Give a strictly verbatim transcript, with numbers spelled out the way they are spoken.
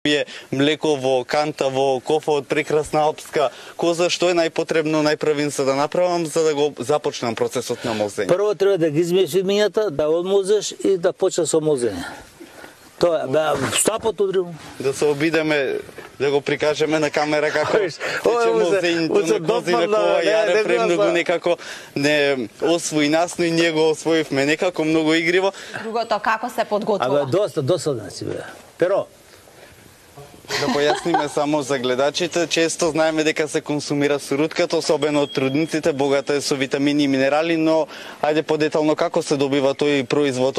пие млеко во канта, во кофа од прекрасна алпска коза, што е најпотребно најпрвин за да направам за да го започнам процесот на мозење? Прво треба да ги измиеш имињата, да одмозеш и да почнеш со мозење. Тоа бе стапот удрил. Да се обидеме да го прикажеме на камера како тече мозењето на козина кова, јаре премногу некако не освои нас, но и ние го освоивме некако многу игриво. Другото како се подготвува? Абе доста досадно си бе. Перо. Да појасниме само за гледачите, често знаеме дека се консумира сурутката, особено од трудниците, богата е со витамини и минерали, но ајде подетално како се добива тој производ?